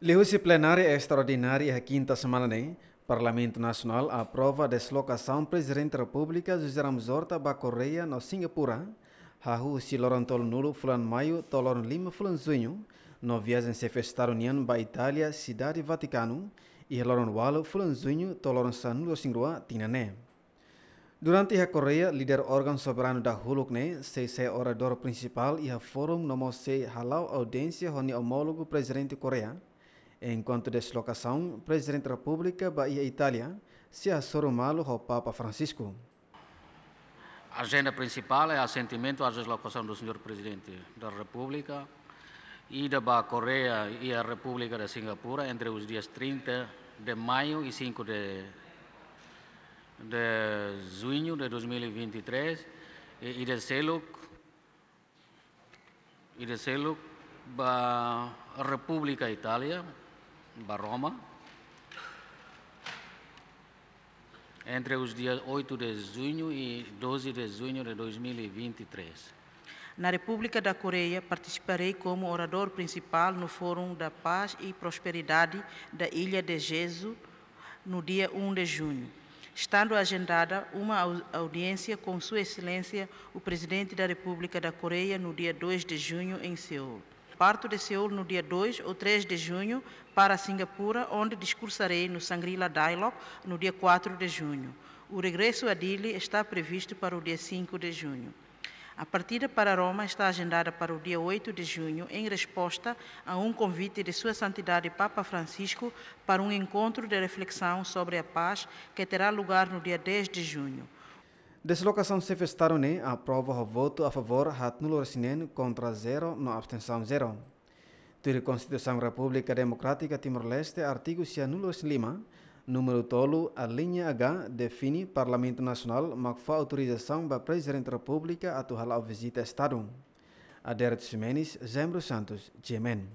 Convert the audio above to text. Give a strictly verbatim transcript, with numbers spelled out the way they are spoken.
Liuhusi plenária estraordinária iha kinta semana ne'e, Parlamentu Nasionál aprova deslokasaun Prezidente Repúblika José Ramos Horta ba Koreia no Singapura, hahú husi loron tolunulu fulan Maiu to'o loron lima fulan Juñu, no viajen xefe Estadu nian ba Itália, Sidade Vatikanu, iha loron ualu fulan Juñu to'o loron sanulu-resin-rua tinan ne'e. Durante iha Koreia, líder órgaun soberanu dahuluk ne'e sei sai oradór prinsipál iha fórum no mós sei hala'o audiénsia ho nia omólogu Prezidente Koreia, enkuantu deslokasaun Prezidente Repúblika ba iha Itália sei hasoru malu ho Papa Francisco. Agenda principal é assentimento à deslocação do senhor Presidente da República, ida ba Koreia e a República da Singapura entre os dias trinta de maio e cinco de, de junho de dois mil e vinte e três, e ida seluk, ida seluk ba República Itália, ba Roma, entre os dias oito de junho e doze de junho de dois mil e vinte e três. Na República da Coreia, participarei como orador principal no Fórum da Paz e Prosperidade da Ilha de Jeju, no dia um de junho, estando agendada uma au-, audiência com Sua Excelência, o Presidente da República da Coreia, no dia dois de junho, em Seul. Parto de Seul no dia dois ou três de junho para Singapura, onde discursarei no Shangri-La Dialogue no dia quatro de junho. O regresso a Dili está previsto para o dia cinco de junho. A partida para Roma está agendada para o dia oito de junho, em resposta a um convite de Sua Santidade Papa Francisco para um encontro de reflexão sobre a paz que terá lugar no dia dez de junho. Deslokasaun xefe Estadu ne'e aprova ho votu a favór haatnulu-resin-neen, kontra zero no abstensaun zero. Tuir Konstituisaun Repúblika Demokrátika Timor-Leste, artigu sianulu-resin-lima, númeru tolu, alínea H, define Parlamentu Nasionál mak fó autorizasaun ba Prezidente Repúblika atu hala'o vizita Estadu. Adérito Ximenes, Zembro Santos, G M N.